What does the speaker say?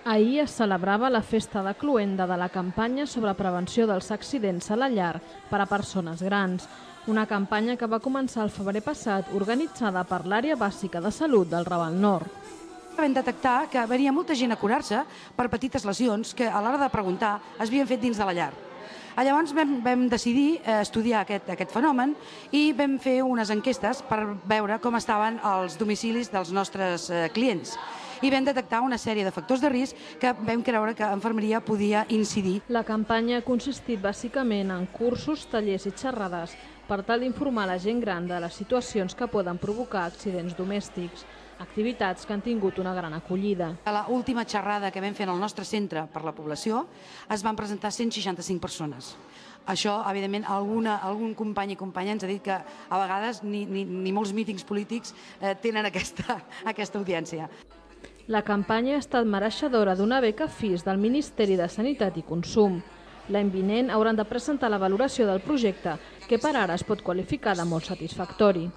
Ahir es celebrava la festa de cloenda de la campanya sobre prevenció dels accidents a la llar per a persones grans. Una campanya que va començar el febrer passat, organitzada per l'Àrea Bàsica de Salut del Raval Nord. Vam detectar que venia molta gent a curar-se per petites lesions que a l'hora de preguntar es havien fet dins de la llar. Llavors vam decidir estudiar aquest fenomen i vam fer unes enquestes per veure com estaven els domicilis dels nostres clients. I vam detectar una sèrie de factors de risc que vam creure que infermeria podia incidir. La campanya ha consistit bàsicament en cursos, tallers i xerrades per tal d'informar la gent gran de les situacions que poden provocar accidents domèstics, activitats que han tingut una gran acollida. A l'última xerrada que vam fer en el nostre centre per la població es van presentar 165 persones. Això, evidentment, algun company i companya ens ha dit que a vegades ni molts mítings polítics tenen aquesta audiència. La campanya ha estat mereixedora d'una beca FIS del Ministeri de Sanitat i Consum. L'any vinent hauran de presentar la valoració del projecte, que per ara es pot qualificar de molt satisfactori.